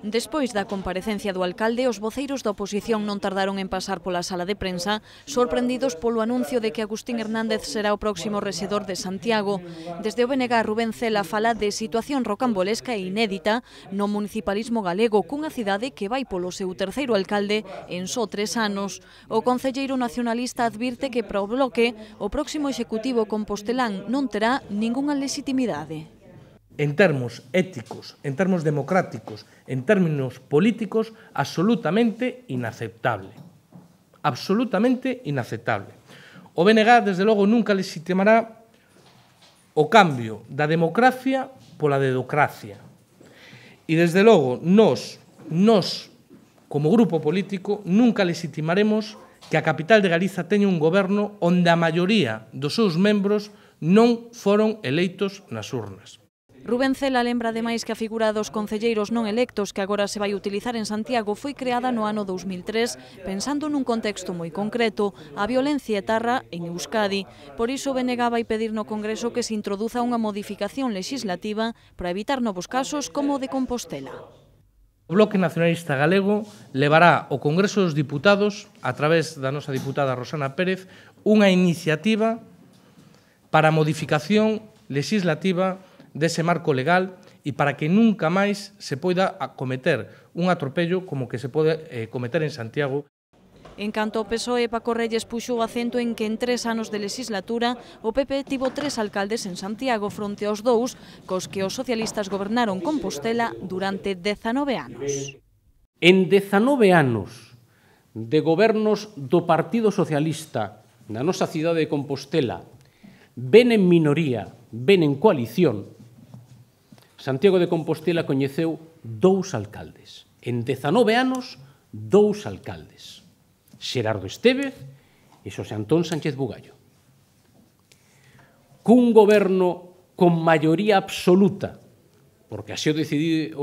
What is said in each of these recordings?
Despois da comparecencia do alcalde, os voceiros da oposición non tardaron en pasar pola sala de prensa, sorprendidos polo anuncio de que Agustín Hernández será o próximo rexedor de Santiago. Desde o BNG, Rubén Cela fala de situación rocambolesca e inédita no municipalismo galego, cunha cidade que vai polo seu terceiro alcalde en só 3 anos. O concelleiro nacionalista advirte que para o Bloque o próximo executivo compostelán non terá ningunha legitimidade. En termos éticos, en termos democráticos, en términos políticos, absolutamente inaceptable. Absolutamente inaceptable. O BNG, desde logo, nunca legitimará o cambio da democracia pola dedocracia. E, desde logo, nós, como grupo político, nunca legitimaremos que a capital de Galiza teña un goberno onde a maioría dos seus membros non foron eleitos nas urnas. Rubén Cela lembra ademais que a figura dos concelleiros non electos que agora se vai utilizar en Santiago foi creada no ano 2003 pensando nun contexto moi concreto, a violencia etarra en Euskadi. Por iso o BNG vai pedir no Congreso que se introduza unha modificación legislativa para evitar novos casos como o de Compostela. O Bloque Nacionalista Galego levará ao Congreso dos Diputados, a través da nosa diputada Rosana Pérez, unha iniciativa para a modificación legislativa dese marco legal e para que nunca máis se poida cometer un atropello como que se pode cometer en Santiago. En canto ao PSOE, Paco Reyes puxo o acento en que en 3 anos de legislatura o PP tivo 3 alcaldes en Santiago fronte aos 2 cos que os socialistas gobernaron Compostela durante 19 anos. En 19 anos de gobernos do Partido Socialista na nosa cidade de Compostela, ben en minoría, ben en coalición, Santiago de Compostela coñeceu 2 alcaldes. En 19 anos, 2 alcaldes. Xerardo Estévez e Xosé Antón Sánchez Bugallo. Cun goberno con maioría absoluta, porque así o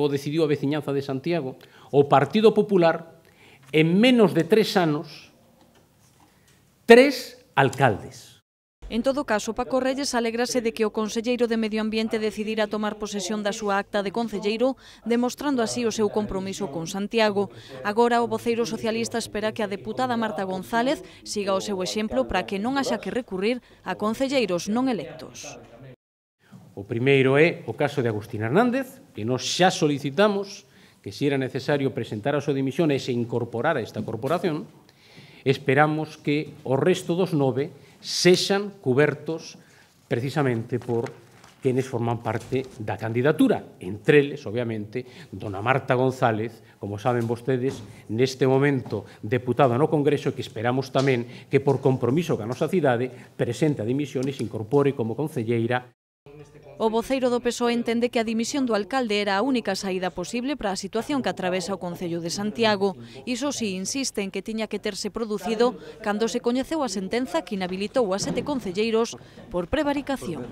decidiu a veciñanza de Santiago, o Partido Popular, en menos de 3 anos, 3 alcaldes. En todo caso, Paco Reyes alégrase de que o conselleiro de Medio Ambiente decidira tomar posesión da súa acta de concelleiro, demostrando así o seu compromiso con Santiago. Agora, o voceiro socialista espera que a deputada Marta González siga o seu exemplo para que non haxa que recurrir a concelleiros non electos. O primeiro é o caso de Agustín Hernández, que nós xa solicitamos que se era necesario presentar a súa dimisión e se incorporar a esta corporación. Esperamos que o resto dos 9 sexan cubertos precisamente por quenes forman parte da candidatura. Entre eles, obviamente, dona Marta González, como saben vostedes, neste momento deputada no Congreso, que esperamos tamén que por compromiso ca nosa cidade presente a dimisión e se incorpore como concelleira. O voceiro do PSOE entende que a dimisión do alcalde era a única saída posible para a situación que atravesa o Concello de Santiago. Iso si, insiste en que tiña que terse producido cando se coñeceu a sentenza que inhabilitou a 7 concelleiros por prevaricación.